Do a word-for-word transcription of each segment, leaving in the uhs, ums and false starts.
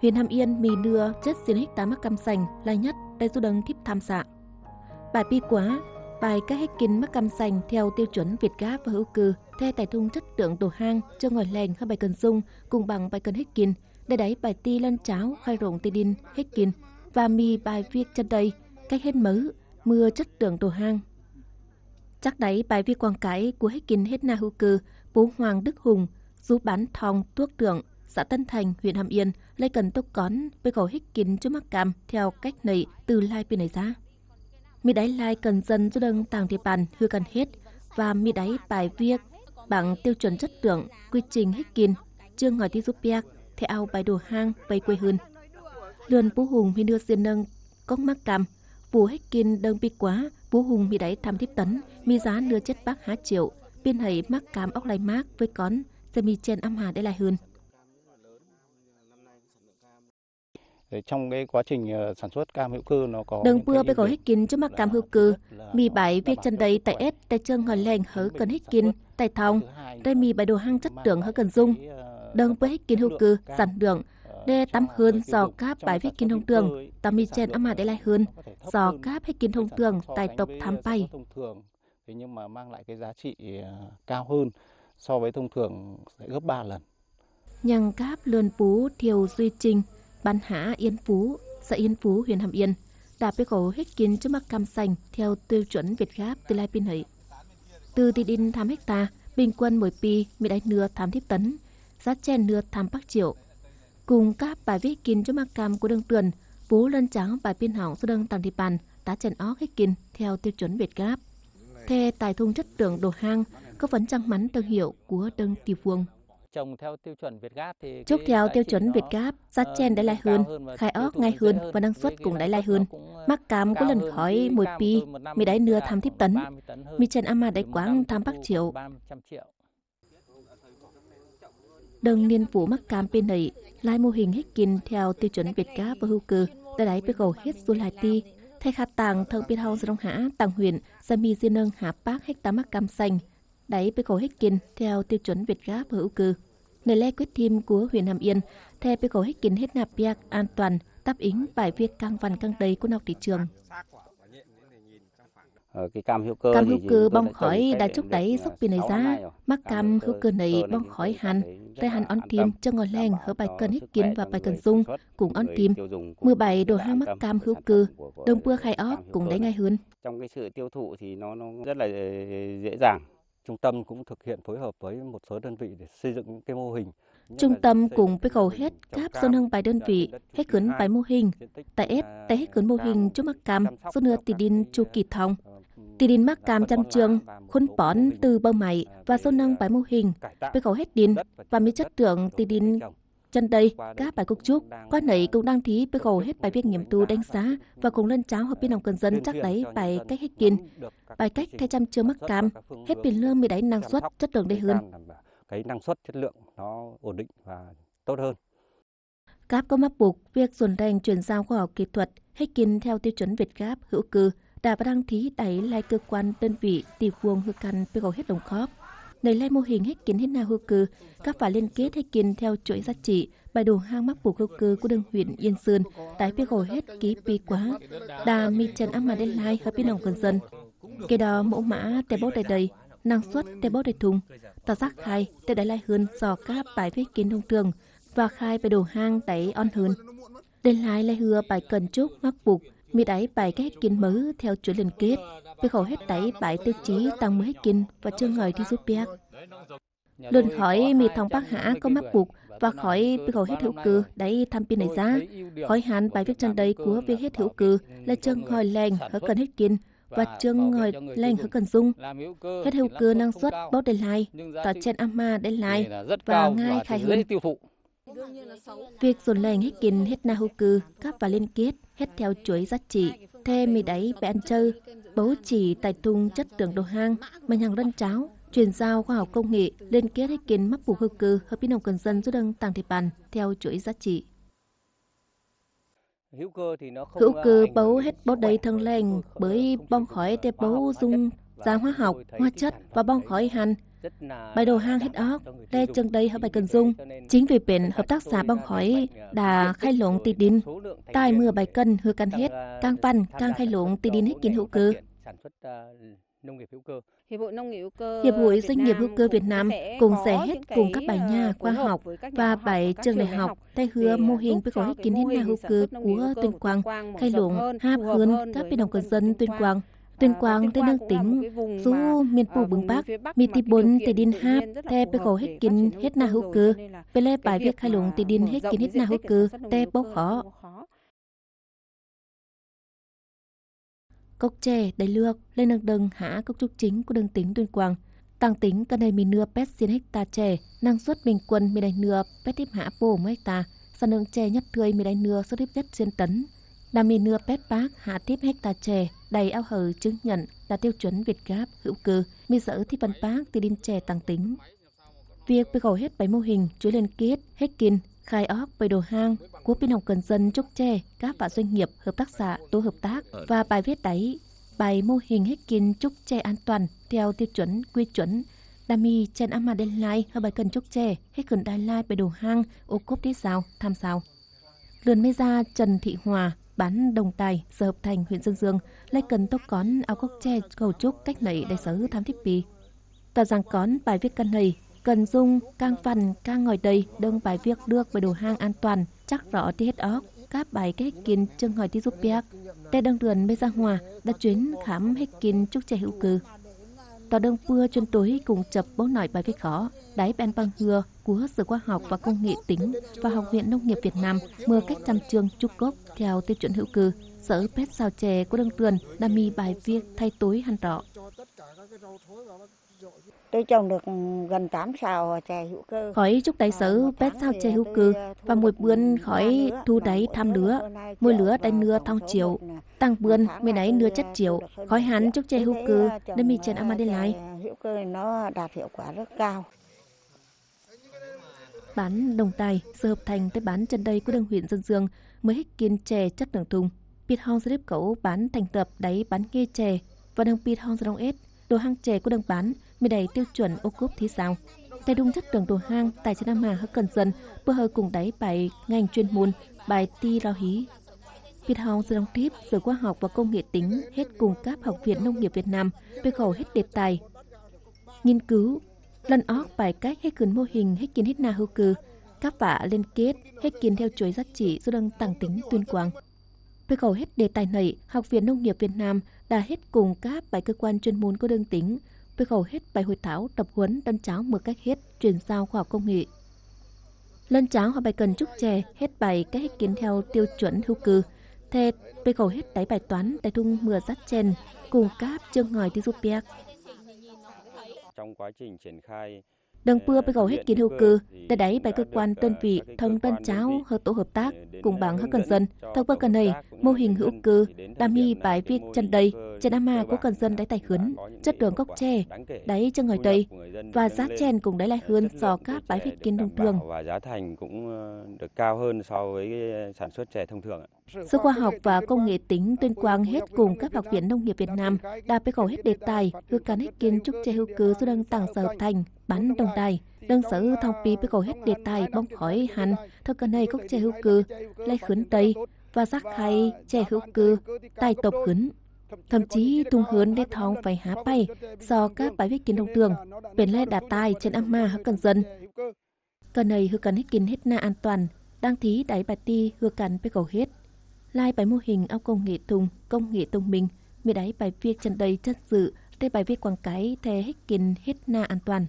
Huyện Hàm Yên mì nưa chết xiên hecta mắc cam sành lai nhất đảy dú đâng thiếp tham xạ. Bại bi quá, bại cách hết kin mắc cam sành theo tiêu chuẩn Việt Gáp và hữu cơ, the tài thùng chất lượng đồ hang, chưa ngòi leng hơ bài cần dùng, cùng bằng bài cần hết kin, để đảy bài ti lân cháo khai rộng ti đin hết kin, và mì bài việc chân đây, cách hết mớ, mưa chất lượng đồ hang. Chắc đảy bài viết quảng cáo của hết kin hết na hữu cơ, bố Hoàng Đức Hùng, dú bản Thong Tuốc Thượng, xã Tân Thành, huyện Hàm Yên, lấy cần tốc cón, bê khổ hết kin chú mắc cam theo cách này từ lai pì này giá. Mì đáy lai cần dân dú đâng tàng địa bàn hư cần hết, và mì đáy bài viết bằng tiêu chuẩn chất lượng, quy trình hết kin, chương hỏi tí giúp biác, theo ao bài đồ hang, bài quê hơn. Lượn bố Hùng mì nưa xiên nâng, cốc mắc cam, Phủ Hếch Kin đơng pi quá, bố Hùng mì đảy tham thiếp tấn, mì giá nưa chết bác hả triệu, piên hạy mắc cam ốc lai mác với cón, sẽ mì chen âm hà để lai hơn. Trong cái quá trình, ờ, sản xuất cam hữu cơ nó có Đơng những cái pưa ưu bê khổ điểm Hếch Kin chứ mắc cam hữu cơ, mì bảy việc chân đầy tại ết, tại trường hỏi leng hớ cần Hếch Kin, tại thòng, đây mì bảy đồ hang chất lượng hớ cần dung. Đơng pưa Hếch Kin hữu cơ, sản lượng, đe tắm hơn do cáp bài Hếch Kin thông thường, tắm mì chen âm hà để lai hơn, do cáp Hếch Kin thông thường tại tộc tham pay. Thế nhưng mà mang lại cái giá trị, ờ, cao hơn so với thông thường sẽ gấp ba lần. Nhằng cáp lươn pú Thiêu Duy Trinh, bản hả Yên Phú, xã Yên Phú, huyện Hàm Yên, đã bê khổ Hếch Kin chứ mắc cam sành theo tiêu chuẩn Việt Gáp từ lai pin hợi. Từ tỷ đinh tham hecta, bình quân mỗi pi, mì đáy nưa tham thiếp tấn, giá chen nưa tham bắc triệu. Cùng cáp bài viết kin chứ mắc cam của đương tuyển, bố lân cháo bài pin hỏng số đương tặng địa bàn, tá chen óc Hếch Kin theo tiêu chuẩn Việt Gáp. Thê tài thùng chất lượng đồ hang, có phấn trăng mắn thương hiệu của đương địa phương. Trồng theo tiêu chuẩn Việt Gáp thì Chúc cái theo giá tiêu trị chuẩn Việt nó, Gáp, giá ờ, chen đáy lai cao hơn, hơn và khai tiêu óc thụ ngay nó dễ hơn hơn và năng thì suất cái cũng năng đáy lai suất hơn. Nó cũng, ờ, Mắc cam của cao lần hơn khỏi thì mỗi pi, một năm mì đáy nưa tham thiếp tấn. Ba mươi tấn hơn, mì chen ama đáy quảng tham bắc triệu. Ba mươi triệu. Đơng niên vụ mắc cam pê nẩy, lai mô hình Hếch Kin theo tiêu chuẩn Việt Gáp và hữu cơ, đã đáy bê khổ hết du lai ti. Thay khát tàng thơng pê thâu Sông Hả, tàng huyện, sa mì di nâng hả pác hecta mắc cam sành, đáy bê khổ Hếch Kin theo tiêu chuẩn Việt Gáp và hữu cơ. Nơi lẽ quyết thim của huyện Hàm Yên, the bê khổ Hếch Kin hết nạp biạc an toàn, đáp ứng bài việc căng văn căng đầy của nọc thị trường. Ờ, cái cam hữu cơ Cam thì hữu chúng cơ tôi bong đã trồng khỏi cách đã đây chúc được, đáy à, dốc pin này sáu năm giá, nay rồi. Mắc Cam cam hữu hữu cơ cơ này nên bong khỏi hẳn, rai hẳn ăn thêm, cho ngồi leng hở bài cân Hếch Kin và bài cân dung, cũng ăn thêm. Mười bảy đồ hang mắc cam hữu cơ, đồng bưa khai óc cũng đáy ngay hơn. Trong cái sự tiêu thụ thì nó, nó rất là dễ dàng. Trung tâm cũng thực hiện phối hợp với một số đơn vị để xây dựng những cái mô hình. Trung tâm cũng bê khổ hết cáp số nâng bài đơn vị, hết khuyến bài mô hình. Tại ết, tại hết khuyến mô hình, chú mắc cam, số nưa tỷ đin chu kỳ thông. Tỷ đin mắc cam chăm trường, khuôn pón từ bầu mảy và số nâng bài mô hình, bê khổ hết đin, và mi chất lượng tỷ đin. Chân đây, các bài cục trúc, qua nảy cũng đang thí bê khổ hết bài việc nghiệm thu đánh giá và cùng lân cháo hợp biên lòng cần dân chắc đáy bài cách Hếch Kin. Bài cách thay chăm trường mắc cam, hết biên lương mi đáy năng suất, chất lượng đây hơn. Cái năng suất, chất lượng nó ổn định và tốt hơn. Cáp có mắc buộc việc dồn đèn chuyển giao khoa học kỹ thuật, Hếch Kin theo tiêu chuẩn Việt Gáp hữu cơ, đã và đang thí đáy lai cơ quan đơn vị tỷ vuông hư căn bê khổ hết đồng khóp. Nảy lai mô hình Hếch Kin hết na hữu cơ, các phải liên kết Hếch Kin theo chuỗi giá trị, bài đồ hang mắc buộc hữu cơ của đường huyện Yên Sơn, đáy bê khổ hết ký pi quá. Đa mi chân áp mà đến lai hợp biên lòng cần dân. Kể đó mẫu mã tê bố đầy đầy, năng suất tê bố đầy thùng, ta rác khai tê đáy lai hơn do các bài viết Kin thông thường, và khai bài đồ hang đáy on hơn. Đền lai lai hưa bài cần chúc mắc buộc, mi đáy bài cách Hếch Kin mớ theo chuỗi liên kết, bê khổ hết đáy bài tiêu chí tăng mười Hếch Kin và chương ngòi thi giúp biác. Lượn khỏi mi thông bác hả có mắc buộc, và khỏi bê khổ hết hữu cơ đáy tham pin này giá. Khỏi hẳn bài viết chân đây của việc hết hữu cơ là chương ngòi leng hở cần Hếch Kin, và chương ngòi leng hở cần dung. Hết hữu cơ năng suất bố đền lai, tỏ chen ama đền lai, và ngai khai hơn. Việc dồn leng Hếch Kin hết na hữu cơ, cáp và liên kết, hết theo chuỗi giá trị, thêm mi đáy bê ăn chơ, bố chỉ tại thùng chất lượng đồ hang, mà nhằng lân cháo, chuyển giao khoa học công nghệ, liên kết Hếch Kin mắc buộc hữu cơ hợp biên lòng cần dân dú đâng tàng địa bàn theo chuỗi giá trị. Hữu cơ bố hết bố đầy thơng leng, bởi bong khỏi tê bố dung da hóa học, hóa chất và bong khỏi hăn, Bại đồ hang hết óc, lé chơng đei hả bại cần dùng. Chính vì pện hợp tác xã Bong Khói đa khay lông ti đin, tai mưa bại cần hưa căn hết, cang păn cang khay lông ti đin hết kin hữu cơ. Hiệp hội Doanh nghiệp hữu cơ Việt Nam cũng sẽ hết cùng các bài nhà khoa học và bài trường đại học để hứa mô hình bê khổ hết kin hết na hữu cơ của Tuyên Quang, khay lông hạp hơn các bên đồng cư dân Tuyên Quang. Tuyên Quang, Tây Nông tỉnh, dú miền Pù bướng Bắc, mi ti bôn ti đin hạp, te bê khổ hết kin hết na hữu cơ. Bê lẽ bài việc khay lông ti đin hết kin hết na hữu cơ, te bấu khó. Cốc chè, đảy lược, lên nâng đâng hả cốc trúc chính của đường tỉnh Tuyên Quang. Tảng tỉnh cà này mì nưa pét xiên hecta chè, năng suất bình quân mì đảy nưa pét tiếp hả pô một hecta, sản lượng chè nhất tươi mì đảy nưa số tiếp nhất xiên tấn. Đa mì nưa pét pác hả tiếp hecta chè, đảy ao hở chứng nhận là tiêu chuẩn Việt Gáp hữu cơ, mì sở thi phần pác ti đin chè tảng tỉnh. Việc bê khổ hết bảy mô hình chuỗi liên kết, hết kin, khai óc bảy đồ hang của bên hồng cần dân chốc tre, các vạ doanh nghiệp, hợp tác xã, tổ hợp tác và bài viết đáy bảy mô hình hết kin chốc tre an toàn theo tiêu chuẩn, quy chuẩn. Đa mì chen ama đen lai, hơi bài cần chốc tre, hết cần đai lai bảy đồ hang, ô cốp đế sao, tham sao. Lượn mê gia Trần Thị Hòa, bản Đồng Tài, xã Hợp Thành, huyện Sơn Dương, lai cần tốc cón ao cốc tre khẩu chúc cách nảy đại sứ tham thiếp pi. Tòa giảng cón bài viết căn này, cần dùng cang phần cang ngòi đầy, đương bài viết được bảy đồ hang an toàn, chắc rõ ti hết óc, các bài kết kin chương hỏi ti giúp biác. Tê đương lượn mê gia Hòa, đã chuyến khám hết kin chúc tre hữu cư. Tòa đương pưa chuyên tuổi cũng chập bố nói bài viết khó, đáy bên bằng hưa, của Sở Khoa học và Công nghệ tỉnh và Học viện Nông nghiệp Việt Nam mưa cách chăm chương chúc gốc theo tiêu chuẩn hữu cơ. Sở pét sao chè của Đông Tuần đã mì bài viết thay tối hẳn rõ. Tôi trồng được gần tám sào chè hữu cơ. Khỏi chúc đại sứ pét sao chè hữu cơ và mùi bươn khỏi thu đáy tham lứa, mùi lứa đáy nưa thong triệu. Tăng bươn, mì đáy nưa chất triệu. Khỏi hẳn chúc chè hữu cơ, đã mì trên Amandine lai. Hữu cơ nó đạt hiệu quả rất cao. Bản Đồng Tài, Sở Hợp Thành tới bản Trần Đây của Đông huyện Sơn Dương mới hết kiên chè chất lượng thùng. Pit hong slip cẩu bản thành lập đáy bản nghe chè và đồng pit hong rong ết, đồ hang chè của đồng bản mới đáy tiêu chuẩn ô cốp thí sao. Tại đúng chất lượng đồ hang, tại Sơn Nam Hà hớt cần dân, bơ hơ cùng đáy bài ngành chuyên môn, bài ti lo hí. Pit hong rong tiếp, Sở Khoa học và Công nghệ tỉnh hết cùng các Học viện Nông nghiệp Việt Nam, bê khẩu hết đề tài, nghiên cứu, lân óc bài cách hết khuyến mô hình hết kiên hết na hữu cư, cắp vạ liên kết hết kiên theo chuỗi giá trị do Đảng Tặng tỉnh Tuyên Quang. Bê khẩu hết đề tài này, Học viện Nông nghiệp Việt Nam đã hết cùng các bài cơ quan chuyên môn của Đảng tỉnh, bê khẩu hết bài hội thảo tập huấn tân cháo mưa cách hết chuyển giao khoa học công nghệ. Lân cháo họ bài cần chúc chè, hết bài cách hết kiên theo tiêu chuẩn hữu cư, thê bê khẩu hết đáy bài toán tại thung mưa rắt chen, cùng các chương hỏi đi giúp biác. Trong quá trình triển khai Đừng pưa bê khẩu hết kiên hữu cư, để đáy bài cơ quan đơn vị thông tân cháo hơ tổ hợp tác, cùng bằng hơ cần dân, thông qua cần này, mô hình hữu cư, đam hi bài việc chân đây, trên ama của cần dân đáy tài khuyến, chất lượng cốc tre, đáy chân ngòi đây, và giá chen cũng đáy lai hơn so các bài việc kiên thông thường. Và giá thành cũng ờ, được cao hơn so với sản xuất chè thông thường ạ. Sở Khoa học và Công nghệ tỉnh Tuyên Quang hết cùng các Học viện Nông nghiệp Việt Nam đã bê khẩu hết đề tài, hứa căn hết kiên chúc chè hữu cư do Đảng Tặng Sở Hợp Thành, bản Đồng Tài. Đảng Sở Thông Pi bê khẩu hết đề tài bóng khỏi hẳn, thơ cân này cốc chè hữu cư, lai khuyến tây, và rác khai chè hữu cư, tài tộc khuyến. Thậm chí thùng hướn để thong phải há pay, do các bài viết kiên thông thường, bền lai đã tài trên ama hứa cần dân. Cà nây hứa cắn hết kiên hết na an toàn, đang thí đáy bài ti hứa cắn bê khẩu hết. Lai bài mô hình ao công nghệ thùng, công nghệ thông minh, mì đáy bài viết chân đây chất sự, tê bài viết quảng cáo thê hết kiên hết na an toàn.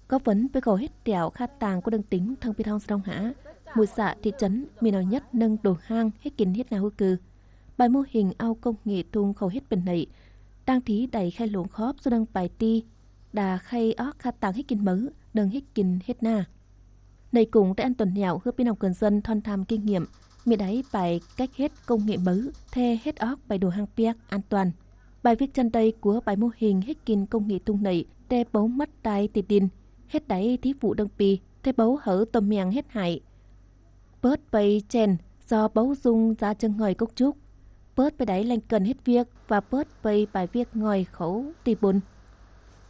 Có vấn bê khẩu hết tẹo khát tàng của đương tính thông phi thông sông hả, mùi xạ thị trấn, mì nào nhất nâng đồ hang hết kiên hết na hứa cư. Bài mô hình ao công nghệ thùng khẩu hết bền nảy, đang thí đáy khai lộn khóp số đăng bài ti, đa khay óc khát tàng hết kiên mớ, đâng hết kiên hết na. Nây cũng tê ăn tuần nẻo hứa pin nông cơn dân thon tham kinh nghiệm, mì đáy bài cách hết công nghệ mớ, thê hết óc bài đồ hang piak an toàn. Bài viết chân đây của bài mô hình hết kiên công nghệ thùng nảy, tê bấu mất tai tịt đin, hết đáy thí vụ đương pi, tê bấu hở tôm miệng hết hại. Bớt pây chen, do bấu dung giá chân ngòi cốc chúc. Bớt pây đáy lành cần hết việc và bớt pây bài việc ngòi khấu tì bôn.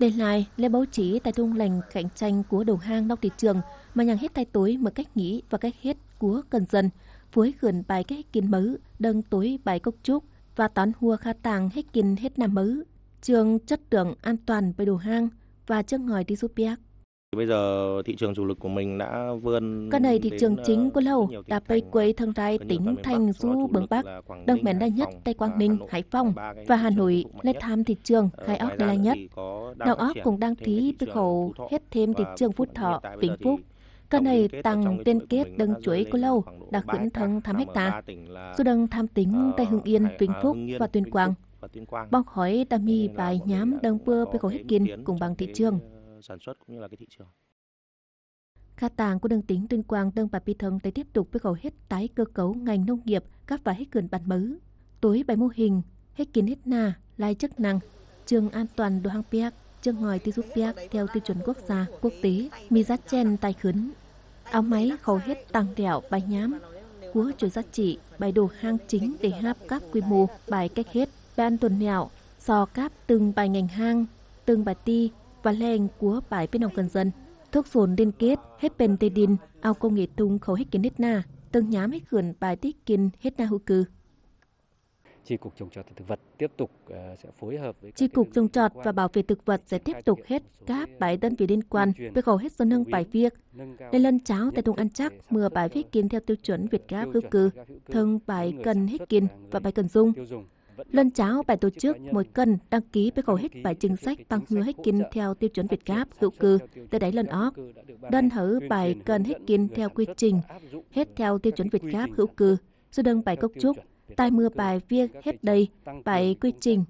Đảy lai, lễ báo chí tại thung leng cạnh tranh của đầu hàng nóc thị trường mà nhằm hết thay đổi mư̱a cách nghĩ và cách hết của công dân, với khửn bài cách kin mâư, đơng tối bài cốc trúc và tón hua kha tàng hết kin hết năm mâư, trường chất lượng an toàn bài đầu hàng và chương hỏi đi giúp biết. Bây giờ thị trường chủ lực của mình đã vươn Cà nây thị đến, trường ờ, chính của rất Lào nhiều đã tỉnh pây thành, quay ờ, thân rai rất nhiều tỉnh các miền thành Bắc, trong đó du chủ bướng lực Bắc, là Quảng Đông Ninh, miền Đà Hà Nhất, Nội, Tây Quảng Ba Ninh, cái Hải Phòng, và Hà Nội là thị trường của Lê Tham thị trường ờ, khai ốc đã đa lai là nhất. Chỉ có đang Đào phát ốc triển cũng đang thêm cái thí thị với trường khẩu Phú Thọ hết thêm thị và trường Phú Phú Thuận. Hiện Thọ, tại bây giờ Vĩnh thì Phúc tổng liên kết ở tăng trong cái liên chuỗi kết của Vĩnh Lào Phúc Ninh đã là khoảng độ khửn ba hecta, thâng tham trong đó hecta. Ba hecta. Su đâng tham tính Ờ, tại Hưng Yên, Vĩnh Phúc và Tuyên Quang. Bóc hỏi đã mì bài nhắm đơng pưa với khẩu hết kin cũng bằng thị trường. Sản xuất cũng như là cái thị trường. Kha tàng của đương tỉnh Tuyên Quang đơng bà Pi Thông để tiếp tục với khẩu hết tái cơ cấu ngành nông nghiệp, cắp và hết khửn bản mâư. Tối bài mô hình, hết kin hết na, lai chức năng, trường an toàn đồ hàng piak, trường hỏi đi giúp piak theo tiêu chuẩn quốc gia, quốc tế, mì giá chen tài khửn. Áo máy khẩu hết tăng đẹo bài nhắm, của chuỗi giá trị, bài đồ hàng chính để hạp cắp quy mô, bài cách hết, ban tuần nẹo, so cắp từng bài ngành hàng, từng bài ti, và leng của bài bên nông công dân. Thuốc dồn liên kết, hết pên tê đin, ao công nghệ tung khẩu hết kin hết na, từng nhắm hết khửn bài tiết kin hết na hữu cư. Chi cục trồng trọt và thực vật tiếp tục, ờ, sẽ phối hợp với các Chi cục trồng trọt và bảo vệ thực vật sẽ tiếp tục hết các bài đơn vị liên quan về khẩu hết dân hưng bài việc. Nên lân cháo tại Trung An chắc mưa bài viết kin theo tiêu chuẩn Việt Gáp hữu cư, thường bài cần hết kin và bài cần dùng. Lân cháo bài tổ chức mỗi cần đăng ký với khẩu hết bài chính sách tăng hứa hết kin theo tiêu chuẩn Việt Gáp hữu cư, tới đáy lân ók. Đơn hở bài cần hết kin theo quy trình, hết theo tiêu chuẩn Việt Gáp hữu cư. Su đâng bài cốc trúc, tai mưa bài viết hết đây, bài quy trình.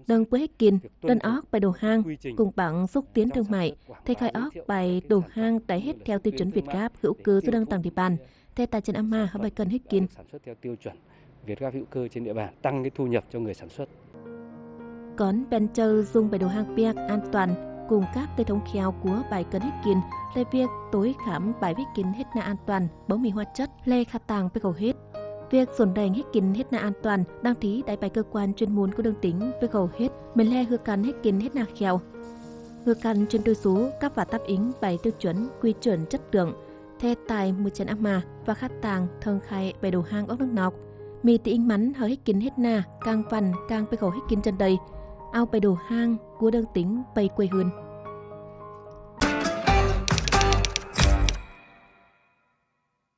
Đâng pưa hết kin, đơn ók bài đồ hàng, cùng bằng xúc tiến thương mại, thê khai ók bài đồ hàng đảy hết theo tiêu chuẩn Việt Gáp hữu cư su đâng tăng địa bàn, thê tài chân ama hả bài cần hết kin. Sản xuất theo tiêu chuẩn Việt Gáp hữu cơ trên địa bàn, tăng cái thu nhập cho người sản xuất. Cón pên chơ dùng bài đồ hàng piak an toàn, cùng các tê thống khéo của bài cần hết kin, lê việc tối khám bài viết kin hết na an toàn, bấu mì hóa chất, lê khả tàng pê khẩu hết. Việc dồn đèn hết kin hết na an toàn, đang thí đại bài cơ quan chuyên môn của đường tỉnh pê khẩu hết, mình lê hư căn hết kin hết na khéo. Hư căn chuyên đối số, cấp và đáp ứng bài tiêu chuẩn, quy chuẩn chất lượng, thê tài mười chín ama và khả tàng thường khai bài đồ hàng ốc nước nọc. Mì tí inh mắn hở hết kin hết na, càng văn, càng pê khẩu hết kin chân đây. Ao bài đồ hàng của đường tỉnh bày quầy hưn.